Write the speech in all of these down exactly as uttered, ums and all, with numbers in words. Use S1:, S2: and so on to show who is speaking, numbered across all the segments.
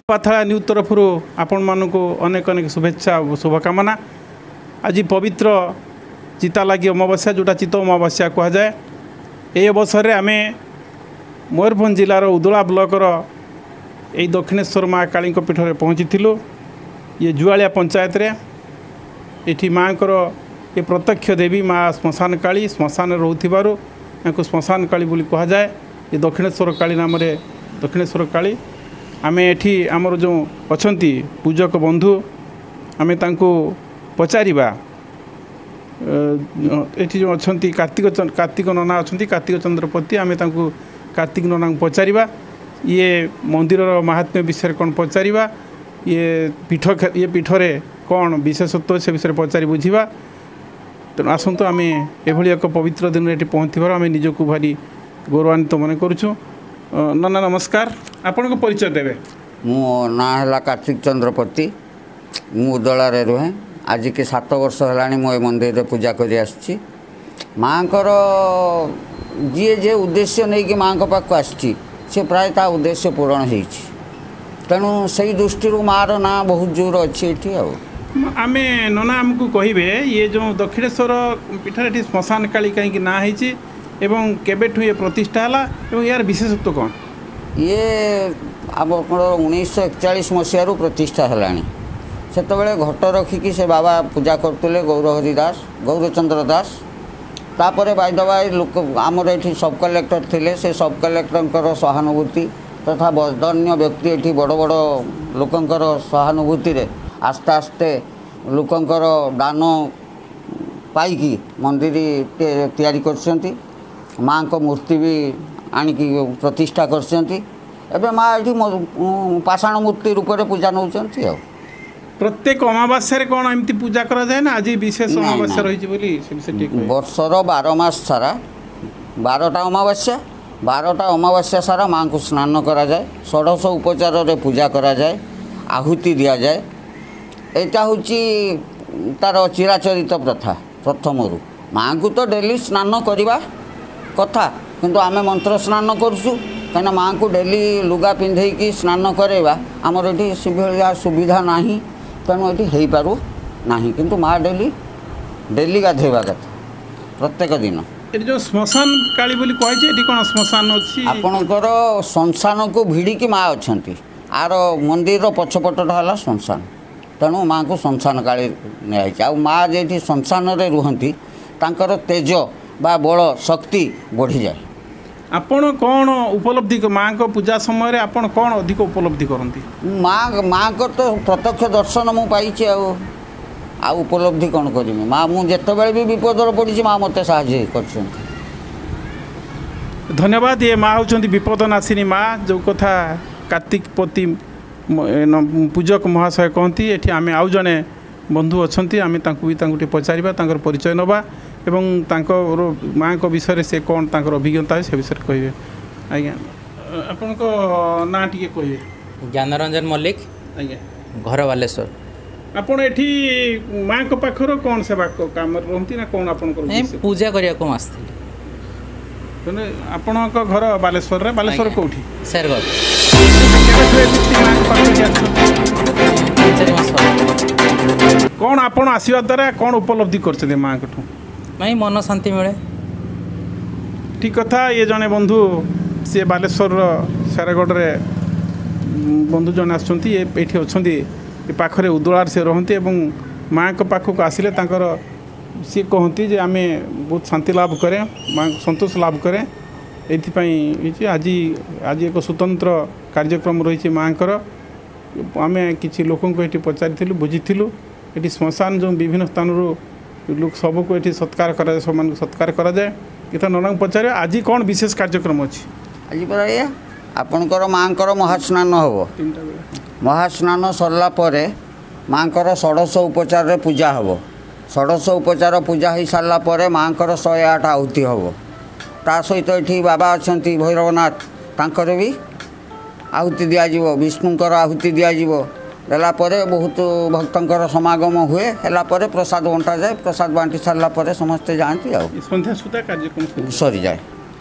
S1: ପାଥଳା news ତରଫରୁ ଆପଣମାନଙ୍କୁ ଅନେକ ଅନେକ ଶୁଭେଚ୍ଛା ଓ ଶୁଭକାମନା। ଆଜି ପବିତ୍ର ଚିତାଲାଗି ଅମାବାସ୍ୟା, ଯେଉଁଟା ଚିତ ଅମାବାସ୍ୟା କୁହାଯାଏ। ଏହି ଅବସରରେ ଆମେ ମୟୂରଭଞ୍ଜ ଜିଲ୍ଲାର ଉଦଳା ବ୍ଲକର ଏଇ ଦକ୍ଷିଣେଶ୍ୱର ମା କାଳୀଙ୍କ ପୀଠରେ ପହଞ୍ଚିଥିଲୁ। ଇଏ ଜୁଆଳିଆ ପଞ୍ଚାୟତରେ ଏଠି ମାଆଙ୍କର ଏ ପ୍ରତ୍ୟକ୍ଷ ଦେବୀ ମା ଶ୍ମଶାନ କାଳୀ, ଶ୍ମଶାନରେ ରହୁଥିବାରୁ ୟାଙ୍କୁ ଶ୍ମଶାନ କାଳୀ ବୋଲି କୁହାଯାଏ। ଏ ଦକ୍ଷିଣେଶ୍ୱର କାଳୀ ନାମରେ ଦକ୍ଷିଣେଶ୍ୱର କାଳୀ। ଆମେ ଏଠି ଆମର ଯେଉଁ ଅଛନ୍ତି ପୂଜକ ବନ୍ଧୁ, ଆମେ ତାଙ୍କୁ ପଚାରିବା। ଏଠି ଯେଉଁ ଅଛନ୍ତି କାର୍ତ୍ତିକ କାର୍ତ୍ତିକ ନନା ଅଛନ୍ତି, କାର୍ତ୍ତିକ ଚନ୍ଦ୍ରପତି, ଆମେ ତାଙ୍କୁ କାର୍ତ୍ତିକ ନନାଙ୍କୁ ପଚାରିବା, ଇଏ ମନ୍ଦିରର ମାହାତ୍ମ୍ୟ ବିଷୟରେ କ'ଣ ପଚାରିବା, ଇଏ ପୀଠ ଇଏ ପୀଠରେ କ'ଣ ବିଶେଷତ୍ୱ ସେ ବିଷୟରେ ପଚାରି ବୁଝିବା। ତେଣୁ ଆସନ୍ତୁ, ଆମେ ଏଭଳି ଏକ ପବିତ୍ର ଦିନରେ ଏଠି ପହଞ୍ଚିଥିବାରୁ ଆମେ ନିଜକୁ ଭାରି ଗୌରବାନ୍ୱିତ ମନେ କରୁଛୁ। ନନା ନମସ୍କାର, ଆପଣଙ୍କ ପରିଚୟ ଦେବେ।
S2: ମୋ ନାଁ ହେଲା କାର୍ତ୍ତିକ ଚନ୍ଦ୍ରପତି, ମୁଁ ଉଦଳାରେ ରୁହେ। ଆଜିକି ସାତ ବର୍ଷ ହେଲାଣି ମୁଁ ଏ ମନ୍ଦିରରେ ପୂଜା କରି ଆସିଛି। ମାଆଙ୍କର ଯିଏ ଯେ ଉଦ୍ଦେଶ୍ୟ ନେଇକି ମାଆଙ୍କ ପାଖକୁ ଆସିଛି, ସେ ପ୍ରାୟ ତା ଉଦ୍ଦେଶ୍ୟ ପୂରଣ ହେଇଛି। ତେଣୁ ସେଇ ଦୃଷ୍ଟିରୁ ମାଆର ନାଁ ବହୁତ ଜୋର ଅଛି ଏଠି। ଆଉ
S1: ଆମେ ନନା ଆମକୁ କହିବେ, ଇଏ ଯେଉଁ ଦକ୍ଷିଣେଶ୍ୱର ପୀଠରେ ଏଠି ଶ୍ମଶାନ କାଳୀ କାହିଁକି ନାଁ ହେଇଛି ଏବଂ କେବେଠୁ ଇଏ ପ୍ରତିଷ୍ଠା ହେଲା ଏବଂ ଏହାର ବିଶେଷତ୍ୱ କ'ଣ?
S2: ଇଏ ଆମର ଉଣେଇଶହ ଏକଚାଳିଶ ମସିହାରୁ ପ୍ରତିଷ୍ଠା ହେଲାଣି। ସେତେବେଳେ ଘଟ ରଖିକି ସେ ବାବା ପୂଜା କରୁଥିଲେ, ଗୌରହରି ଦାସ, ଗୌରଚନ୍ଦ୍ର ଦାସ। ତାପରେ ବାଇଦବାଇ ଲୋକ ଆମର ଏଠି ସବ୍ କଲେକ୍ଟର ଥିଲେ, ସେ ସବ୍ କଲେକ୍ଟରଙ୍କର ସହାନୁଭୂତି ତଥା ବଦାନ୍ୟ ବ୍ୟକ୍ତି ଏଠି ବଡ଼ ବଡ଼ ଲୋକଙ୍କର ସହାନୁଭୂତିରେ ଆସ୍ତେ ଆସ୍ତେ ଲୋକଙ୍କର ଦାନ ପାଇକି ମନ୍ଦିର ତିଆରି କରିଛନ୍ତି। ମାଆଙ୍କ ମୂର୍ତ୍ତି ବି ଆଣିକି ପ୍ରତିଷ୍ଠା କରିଛନ୍ତି। ଏବେ ମା ଏଠି ପାଷାଣ ମୂର୍ତ୍ତି ରୂପରେ ପୂଜା ନେଉଛନ୍ତି। ଆଉ
S1: ପ୍ରତ୍ୟେକ ଅମାବାସ୍ୟାରେ କ'ଣ ଏମିତି ପୂଜା କରାଯାଏ ନା ଆଜି ବିଶେଷ ଅମାବାସ୍ୟା ରହିଛି ବୋଲି ସେ ବିଷୟରେ ଟିକେ କହିବେ?
S2: ବର୍ଷର ବାର ମାସ ସାରା ବାରଟା ଅମାବାସ୍ୟା, ବାରଟା ଅମାବାସ୍ୟା ସାରା ମାଆଙ୍କୁ ସ୍ନାନ କରାଯାଏ, ଷୋଡ଼ଶ ଉପଚାରରେ ପୂଜା କରାଯାଏ, ଆହୁତି ଦିଆଯାଏ। ଏଇଟା ହେଉଛି ତାର ଚିରାଚରିତ ପ୍ରଥା ପ୍ରଥମରୁ। ମାଆଙ୍କୁ ତ ଡେଲି ସ୍ନାନ କରିବା କଥା, କିନ୍ତୁ ଆମେ ମନ୍ତ୍ର ସ୍ନାନ କରୁଛୁ, କାହିଁକିନା ମାଆଙ୍କୁ ଡେଲି ଲୁଗା ପିନ୍ଧେଇକି ସ୍ନାନ କରାଇବା ଆମର ଏଠି ସେଭଳିଆ ସୁବିଧା ନାହିଁ, ତେଣୁ ଏଠି ହେଇପାରୁ ନାହିଁ। କିନ୍ତୁ ମା ଡେଲି ଡେଲି ଗାଧୋଇବା କଥା ପ୍ରତ୍ୟେକ ଦିନ।
S1: ଏଠି ଯେଉଁ ଶ୍ମଶାନ କାଳୀ ବୋଲି କୁହାଯାଇଛି, ଏଠି କ'ଣ ଶ୍ମଶାନ ଅଛି?
S2: ଆପଣଙ୍କର ଶ୍ମଶାନକୁ ଭିଡ଼ିକି ମା ଅଛନ୍ତି। ଆର ମନ୍ଦିରର ପଛପଟଟା ହେଲା ଶ୍ମଶାନ, ତେଣୁ ମାଆଙ୍କୁ ଶ୍ମଶାନ କାଳୀ ନିଆହେଇଛି। ଆଉ ମା ଯେଉଁଠି ଶ୍ମଶାନରେ ରୁହନ୍ତି, ତାଙ୍କର ତେଜ ବା ବଳ ଶକ୍ତି ବଢ଼ିଯାଏ।
S1: ଆପଣ କ'ଣ ଉପଲବ୍ଧି, ମାଆଙ୍କ ପୂଜା ସମୟରେ ଆପଣ କ'ଣ ଅଧିକ ଉପଲବ୍ଧି କରନ୍ତି?
S2: ମା ମାଆଙ୍କର ତ ପ୍ରତ୍ୟକ୍ଷ ଦର୍ଶନ ମୁଁ ପାଇଛି, ଆଉ ଆଉ ଉପଲବ୍ଧି କ'ଣ କରିବି? ମା, ମୁଁ ଯେତେବେଳେ ବି ବିପଦରେ ପଡ଼ିଛି, ମା ମୋତେ ସାହାଯ୍ୟ କରିଛନ୍ତି।
S1: ଧନ୍ୟବାଦ। ଇଏ ମା ହେଉଛନ୍ତି ବିପଦ ନାଶିନୀ ମା, ଯେଉଁ କଥା କାର୍ତ୍ତିକ ପତି ପୂଜକ ମହାଶୟ କହନ୍ତି। ଏଠି ଆମେ ଆଉ ଜଣେ ବନ୍ଧୁ ଅଛନ୍ତି, ଆମେ ତାଙ୍କୁ ବି ତାଙ୍କୁ ଟିକେ ପଚାରିବା, ତାଙ୍କର ପରିଚୟ ନେବା ଏବଂ ତାଙ୍କର ମାଆଙ୍କ ବିଷୟରେ ସେ କ'ଣ ତାଙ୍କର ଅଭିଜ୍ଞତା ସେ ବିଷୟରେ କହିବେ। ଆଜ୍ଞା, ଆପଣଙ୍କ ନାଁ ଟିକେ କହିବେ?
S3: ଜ୍ଞାନରଞ୍ଜନ ମଲ୍ଲିକ।
S1: ଆଜ୍ଞା।
S3: ଘର ବାଲେଶ୍ୱର।
S1: ଆପଣ ଏଠି ମାଆଙ୍କ ପାଖରୁ କ'ଣ ସେବା କାମରେ ରୁହନ୍ତି ନା କ'ଣ ଆପଣଙ୍କର?
S3: ପୂଜା କରିବାକୁ ମୁଁ ଆସିଥିଲି।
S1: ଆପଣଙ୍କ ଘର ବାଲେଶ୍ୱରରେ? ବାଲେଶ୍ୱର କେଉଁଠି?
S3: ଶେରଗଡ଼।
S1: କ'ଣ ଆପଣ ଆସିବା ଦ୍ୱାରା କ'ଣ ଉପଲବ୍ଧି କରିଛନ୍ତି ମାଆଙ୍କଠୁ?
S3: ନାଇଁ, ମନ ଶାନ୍ତି ମିଳେ।
S1: ଠିକ୍ କଥା। ଇଏ ଜଣେ ବନ୍ଧୁ, ସିଏ ବାଲେଶ୍ୱରର ଶେରଗଡ଼ରେ ବନ୍ଧୁ ଜଣେ ଆସୁଛନ୍ତି, ଏଇଠି ଅଛନ୍ତି, ଏ ପାଖରେ ଉଦଳାରେ ସେ ରହନ୍ତି ଏବଂ ମାଆଙ୍କ ପାଖକୁ ଆସିଲେ ତାଙ୍କର ସିଏ କହନ୍ତି ଯେ ଆମେ ବହୁତ ଶାନ୍ତି ଲାଭ କରେ, ମାଆଙ୍କୁ ସନ୍ତୋଷ ଲାଭ କରେ। ଏଇଥିପାଇଁ ହେଇଛି ଆଜି ଆଜି ଏକ ସ୍ୱତନ୍ତ୍ର କାର୍ଯ୍ୟକ୍ରମ ରହିଛି ମାଆଙ୍କର। ଆମେ କିଛି ଲୋକଙ୍କୁ ଏଠି ପଚାରିଥିଲୁ, ବୁଝିଥିଲୁ। ଏଠି ଶ୍ମଶାନ ଯେଉଁ ବିଭିନ୍ନ ସ୍ଥାନରୁ ଲୋକ ସବୁକୁ ଏଠି ସତ୍କାର କରାଯାଏ, ସେମାନଙ୍କୁ ସତ୍କାର କରାଯାଏ। ଏଥର ନନାଙ୍କୁ ପଚାରିବା, ଆଜି କ'ଣ ବିଶେଷ କାର୍ଯ୍ୟକ୍ରମ ଅଛି?
S2: ଆଜି ପରା ଏଇଆ, ଆପଣଙ୍କର ମାଆଙ୍କର ମହାସ୍ନାନ ହେବ।
S1: ତିନିଟା ବେଳେ
S2: ମହାସ୍ନାନ ସରିଲା ପରେ ମାଆଙ୍କର ଷୋଡ଼ଶ ଉପଚାରରେ ପୂଜା ହେବ। ଷୋଡ଼ଶ ଉପଚାର ପୂଜା ହେଇସାରିଲା ପରେ ମାଆଙ୍କର ଶହେ ଆଠ ଆହୁତି ହେବ। ତା ସହିତ ଏଠି ବାବା ଅଛନ୍ତି ଭୈରବନାଥ, ତାଙ୍କର ବି ଆହୁତି ଦିଆଯିବ, ବିଷ୍ଣୁଙ୍କର ଆହୁତି ଦିଆଯିବ। ଦେଲା ପରେ ବହୁତ ଭକ୍ତଙ୍କର ସମାଗମ ହୁଏ। ହେଲା ପରେ ପ୍ରସାଦ ବଣ୍ଟାଯାଏ। ପ୍ରସାଦ ବାଣ୍ଟି ସାରିଲା ପରେ ସମସ୍ତେ ଯାଆନ୍ତି ଆଉ
S1: ସନ୍ଧ୍ୟା ସୁଦ୍ଧା କାର୍ଯ୍ୟକ୍ରମ
S2: ସରିଯାଏ।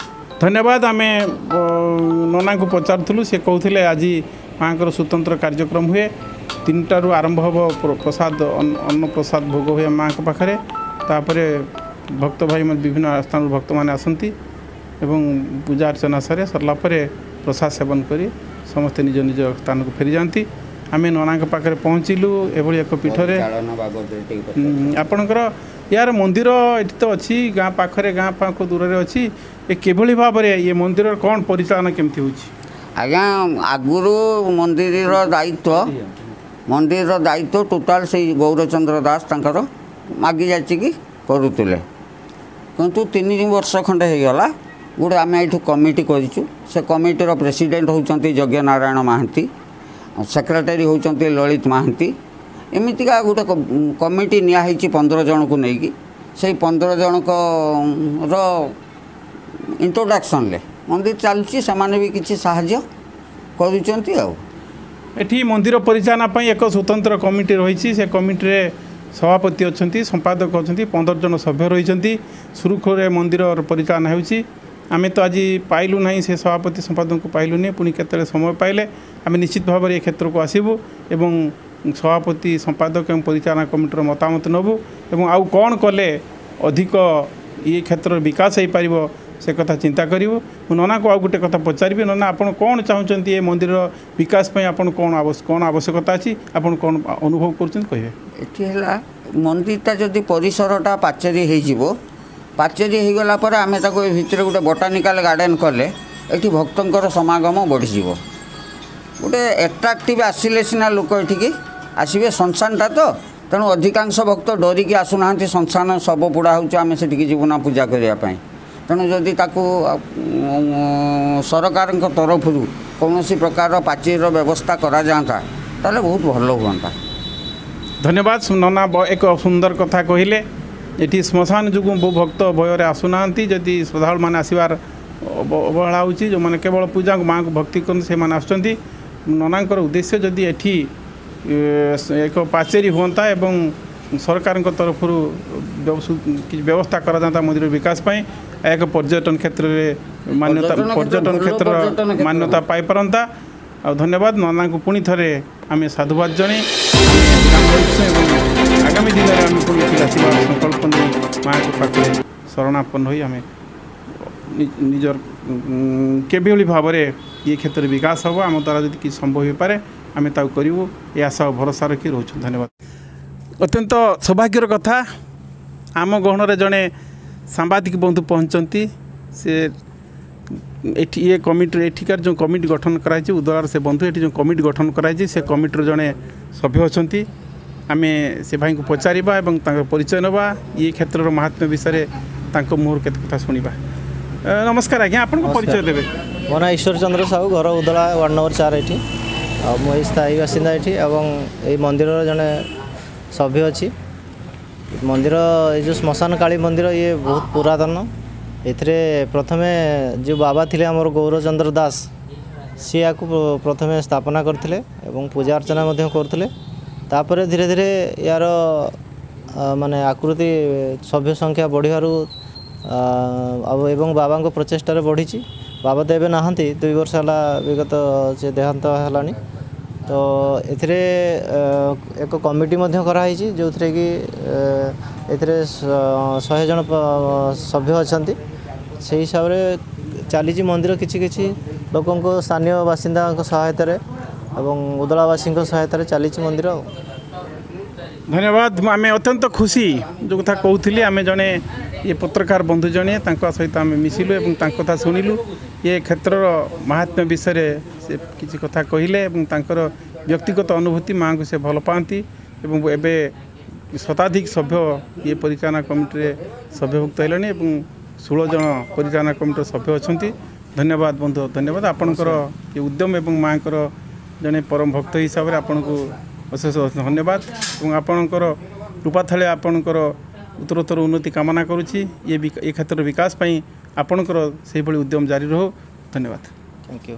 S1: ଧନ୍ୟବାଦ। ଆମେ ନନାଙ୍କୁ ପଚାରୁଥିଲୁ, ସେ କହୁଥିଲେ ଆଜି ମାଆଙ୍କର ସ୍ୱତନ୍ତ୍ର କାର୍ଯ୍ୟକ୍ରମ ହୁଏ। ତିନିଟାରୁ ଆରମ୍ଭ ହେବ ପ୍ରସାଦ, ଅନ୍ନ ପ୍ରସାଦ ଭୋଗ ହୁଏ ମାଆଙ୍କ ପାଖରେ। ତାପରେ ଭକ୍ତ ଭାଇ ବିଭିନ୍ନ ସ୍ଥାନରୁ ଭକ୍ତମାନେ ଆସନ୍ତି ଏବଂ ପୂଜା ଅର୍ଚ୍ଚନା ସରେ। ସରିଲା ପରେ ପ୍ରସାଦ ସେବନ କରି ସମସ୍ତେ ନିଜ ନିଜ ସ୍ଥାନକୁ ଫେରିଯାଆନ୍ତି। ଆମେ ନନାଙ୍କ ପାଖରେ ପହଞ୍ଚିଲୁ ଏଭଳି ଏକ ପୀଠରେ। ଆପଣଙ୍କର ୟାର ମନ୍ଦିର ଏଠି ତ ଅଛି ଗାଁ ପାଖରେ, ଗାଁ ପାଖ ଦୂରରେ ଅଛି। ଏ କିଭଳି ଭାବରେ ଇଏ ମନ୍ଦିରର କ'ଣ ପରିଚାଳନା କେମିତି ହେଉଛି?
S2: ଆଜ୍ଞା, ଆଗରୁ ମନ୍ଦିରର ଦାୟିତ୍ୱ ମନ୍ଦିରର ଦାୟିତ୍ୱ ଟୋଟାଲ୍ ସେଇ ଗୌରଚନ୍ଦ୍ର ଦାସ ତାଙ୍କର ମାଗି ଯାଚିକି କରୁଥିଲେ। କିନ୍ତୁ ତିନି ବର୍ଷ ଖଣ୍ଡେ ହେଇଗଲା ଗୋଟେ ଆମେ ଏଇଠୁ କମିଟି କରିଛୁ। ସେ କମିଟିର ପ୍ରେସିଡେଣ୍ଟ ହେଉଛନ୍ତି ଯଜ୍ଞନାରାୟଣ ମହାନ୍ତି, ସେକ୍ରେଟାରୀ ହେଉଛନ୍ତି ଲଳିତ ମହାନ୍ତି। ଏମିତିକା ଗୋଟେ କମିଟି ନିଆହେଇଛି ପନ୍ଦର ଜଣକୁ ନେଇକି। ସେଇ ପନ୍ଦର ଜଣଙ୍କର ଇଣ୍ଟ୍ରୋଡକ୍ସନ୍ରେ ମନ୍ଦିର ଚାଲୁଛି। ସେମାନେ ବି କିଛି ସାହାଯ୍ୟ କରୁଛନ୍ତି। ଆଉ
S1: ଏଠି ମନ୍ଦିର ପରିଚାଳନା ପାଇଁ ଏକ ସ୍ୱତନ୍ତ୍ର କମିଟି ରହିଛି। ସେ କମିଟିରେ ସଭାପତି ଅଛନ୍ତି, ସମ୍ପାଦକ ଅଛନ୍ତି, ପନ୍ଦର ଜଣ ସଭ୍ୟ ରହିଛନ୍ତି। ସୁରୁଖୁରୁରେ ମନ୍ଦିରର ପରିଚାଳନା ହେଉଛି। ଆମେ ତ ଆଜି ପାଇଲୁ ନାହିଁ, ସେ ସଭାପତି ସମ୍ପାଦକଙ୍କୁ ପାଇଲୁନି। ପୁଣି କେତେବେଳେ ସମୟ ପାଇଲେ ଆମେ ନିଶ୍ଚିତ ଭାବରେ ଏ କ୍ଷେତ୍ରକୁ ଆସିବୁ ଏବଂ ସଭାପତି, ସମ୍ପାଦକ ଏବଂ ପରିଚାଳନା କମିଟିର ମତାମତ ନେବୁ ଏବଂ ଆଉ କ'ଣ କଲେ ଅଧିକ ଇଏ କ୍ଷେତ୍ରର ବିକାଶ ହେଇପାରିବ ସେ କଥା ଚିନ୍ତା କରିବୁ। ମୁଁ ନନାକୁ ଆଉ ଗୋଟେ କଥା ପଚାରିବି। ନନା, ଆପଣ କ'ଣ ଚାହୁଁଛନ୍ତି ଏ ମନ୍ଦିରର ବିକାଶ ପାଇଁ? ଆପଣ କ'ଣ କ'ଣ ଆବଶ୍ୟକତା ଅଛି, ଆପଣ କ'ଣ ଅନୁଭବ କରୁଛନ୍ତି କହିବେ?
S2: ଏଠି ହେଲା ମନ୍ଦିରଟା ଯଦି ପରିସରଟା ପାଚେରୀ ହେଇଯିବ, ପାଚେରୀ ହେଇଗଲା ପରେ ଆମେ ତାକୁ ଏ ଭିତରେ ଗୋଟେ ବଟାନିକାଲ ଗାର୍ଡ଼େନ୍ କଲେ ଏଠି ଭକ୍ତଙ୍କର ସମାଗମ ବଢ଼ିଯିବ। ଗୋଟେ ଆଟ୍ରାକ୍ଟିଭ୍ ଆସିଲେ ସିନା ଲୋକ ଏଠିକି ଆସିବେ। ଶ୍ମଶାନଟା ତ, ତେଣୁ ଅଧିକାଂଶ ଭକ୍ତ ଡରିକି ଆସୁନାହାନ୍ତି। ଶ୍ମଶାନ ଶବ ପୋଡ଼ା ହେଉଛି, ଆମେ ସେଠିକି ଯିବୁ ନା ପୂଜା କରିବା ପାଇଁ। ତେଣୁ ଯଦି ତାକୁ ସରକାରଙ୍କ ତରଫରୁ କୌଣସି ପ୍ରକାରର ପାଚେରୀର ବ୍ୟବସ୍ଥା କରାଯାଆନ୍ତା ତାହେଲେ ବହୁତ ଭଲ ହୁଅନ୍ତା।
S1: ଧନ୍ୟବାଦ ନନା, ଏକ ସୁନ୍ଦର କଥା କହିଲେ। ଏଠି ଶ୍ମଶାନ ଯୋଗୁଁ ବହୁ ଭକ୍ତ ଭୟରେ ଆସୁନାହାନ୍ତି। ଯଦି ଶ୍ରଦ୍ଧାଳୁମାନେ ଆସିବାର ଅବହେଳା ହେଉଛି, ଯେଉଁମାନେ କେବଳ ପୂଜାକୁ ମାଆଙ୍କୁ ଭକ୍ତି କରନ୍ତି ସେମାନେ ଆସୁଛନ୍ତି। ନନାଙ୍କର ଉଦ୍ଦେଶ୍ୟ ଯଦି ଏଠି ଏକ ପାଚେରୀ ହୁଅନ୍ତା ଏବଂ ସରକାରଙ୍କ ତରଫରୁ କିଛି ବ୍ୟବସ୍ଥା କରାଯାଆନ୍ତା ମନ୍ଦିର ବିକାଶ ପାଇଁ, ଏକ ପର୍ଯ୍ୟଟନ କ୍ଷେତ୍ରରେ ମାନ୍ୟତା ପର୍ଯ୍ୟଟନ କ୍ଷେତ୍ରର ମାନ୍ୟତା ପାଇପାରନ୍ତା। ଆଉ ଧନ୍ୟବାଦ ନନାଙ୍କୁ, ପୁଣି ଥରେ ଆମେ ସାଧୁବାଦ ଜଣେଇ ଏବଂ ଆଗାମୀ ଦିନରେ ଆମେ ପୁଣି ଏଠିକି ଆସିବାର ସଂକଳ୍ପ ନେଇ ମାଆଙ୍କ ପାଖରେ ଶରଣାପନ୍ନ ହୋଇ ଆମେ ନିଜର କିଭଳି ଭାବରେ ଇଏ କ୍ଷେତ୍ରରେ ବିକାଶ ହେବ, ଆମ ଦ୍ୱାରା ଯଦି କିଛି ସମ୍ଭବ ହୋଇପାରେ ଆମେ ତାକୁ କରିବୁ, ଏ ଆଶା ଓ ଭରସା ରଖି ରହୁଛୁ। ଧନ୍ୟବାଦ। ଅତ୍ୟନ୍ତ ସୌଭାଗ୍ୟର କଥା, ଆମ ଗହଣରେ ଜଣେ ସାମ୍ବାଦିକ ବନ୍ଧୁ ପହଞ୍ଚନ୍ତି। ସେ ଏଠି ଇଏ କମିଟିର ଏଠିକାର ଯେଉଁ କମିଟି ଗଠନ କରାଯାଇଛି ଉଦଳାର ସେ ବନ୍ଧୁ ଏଠି ଯେଉଁ କମିଟି ଗଠନ କରାଯାଇଛି ସେ କମିଟିର ଜଣେ ସଭ୍ୟ ଅଛନ୍ତି। ଆମେ ସେ ଭାଇଙ୍କୁ ପଚାରିବା ଏବଂ ତାଙ୍କର ପରିଚୟ ନେବା, ଇଏ କ୍ଷେତ୍ରର ମାହାତ୍ମ୍ୟ ବିଷୟରେ ତାଙ୍କ ମୁହଁରୁ କେତେ କଥା ଶୁଣିବା। ନମସ୍କାର ଆଜ୍ଞା, ଆପଣଙ୍କ ପରିଚୟ ଦେବେ?
S4: ମୋ ନାଁ ଈଶ୍ୱର ଚନ୍ଦ୍ର ସାହୁ, ଘର ଉଦଳା ୱାର୍ଡ଼ ନମ୍ବର ଚାରି ଏଠି। ଆଉ ମୁଁ ଏଇ ସ୍ଥାୟୀ ବାସିନ୍ଦା ଏଠି ଏବଂ ଏଇ ମନ୍ଦିରର ଜଣେ ସଭ୍ୟ ଅଛି। ମନ୍ଦିର ଏଇ ଯେଉଁ ଶ୍ମଶାନ କାଳୀ ମନ୍ଦିର ଇଏ ବହୁତ ପୁରାତନ। ଏଥିରେ ପ୍ରଥମେ ଯେଉଁ ବାବା ଥିଲେ ଆମର ଗୌରଚନ୍ଦ୍ର ଦାସ, ସିଏ ୟାକୁ ପ୍ରଥମେ ସ୍ଥାପନା କରିଥିଲେ ଏବଂ ପୂଜା ଅର୍ଚ୍ଚନା ମଧ୍ୟ କରୁଥିଲେ। ତାପରେ ଧୀରେ ଧୀରେ ୟାର ମାନେ ଆକୃତି ସଭ୍ୟ ସଂଖ୍ୟା ବଢ଼ିବାରୁ ଆଉ ଏବଂ ବାବାଙ୍କ ପ୍ରଚେଷ୍ଟାରେ ବଢ଼ିଛି। ବାବା ତ ଏବେ ନାହାନ୍ତି, ଦୁଇ ବର୍ଷ ହେଲା ବିଗତ ସେ ଦେହାନ୍ତ ହେଲାଣି। ତ ଏଥିରେ ଏକ କମିଟି ମଧ୍ୟ କରାହେଇଛି, ଯେଉଁଥିରେ କି ଏଥିରେ ଶହେ ଜଣ ସଭ୍ୟ ଅଛନ୍ତି। ସେଇ ହିସାବରେ ଚାଲିଛି ମନ୍ଦିର। କିଛି କିଛି ଲୋକଙ୍କ ସ୍ଥାନୀୟ ବାସିନ୍ଦାଙ୍କ ସହାୟତାରେ ଏବଂ ଉଦଳାବାସୀଙ୍କ ସହାୟତାରେ ଚାଲିଛି ମନ୍ଦିର। ଆଉ
S1: ଧନ୍ୟବାଦ। ଆମେ ଅତ୍ୟନ୍ତ ଖୁସି, ଯେଉଁ କଥା କହୁଥିଲି, ଆମେ ଜଣେ ଇଏ ପତ୍ରକାର ବନ୍ଧୁ ଜଣେ, ତାଙ୍କ ସହିତ ଆମେ ମିଶିଲୁ ଏବଂ ତାଙ୍କ କଥା ଶୁଣିଲୁ। ଏ କ୍ଷେତ୍ରର ମାହାତ୍ମ୍ୟ ବିଷୟରେ ସେ କିଛି କଥା କହିଲେ ଏବଂ ତାଙ୍କର ବ୍ୟକ୍ତିଗତ ଅନୁଭୂତି, ମାଆଙ୍କୁ ସେ ଭଲ ପାଆନ୍ତି ଏବଂ ଏବେ ଶତାଧିକ ସଭ୍ୟ ଇଏ ପରିଚାଳନା କମିଟିରେ ସଭ୍ୟଭୁକ୍ତ ହେଲେଣି ଏବଂ ଷୋହଳ ଜଣ ପରିଚାଳନା କମିଟିର ସଭ୍ୟ ଅଛନ୍ତି। ଧନ୍ୟବାଦ ବନ୍ଧୁ, ଧନ୍ୟବାଦ। ଆପଣଙ୍କର ଏ ଉଦ୍ୟମ ଏବଂ ମାଆଙ୍କର ଜଣେ ପରମ ଭକ୍ତ ହିସାବରେ ଆପଣଙ୍କୁ ଅଶେଷ ଧନ୍ୟବାଦ ଏବଂ ଆପଣଙ୍କର କୃପାଥଳେ ଆପଣଙ୍କର ଉତ୍ତରୋତ୍ତର ଉନ୍ନତି କାମନା କରୁଛି। ଇଏ ଏ କ୍ଷେତ୍ରର ବିକାଶ ପାଇଁ ଆପଣଙ୍କର ସେହିଭଳି ଉଦ୍ୟମ ଜାରି ରହୁ। ଧନ୍ୟବାଦ।
S4: Thank you.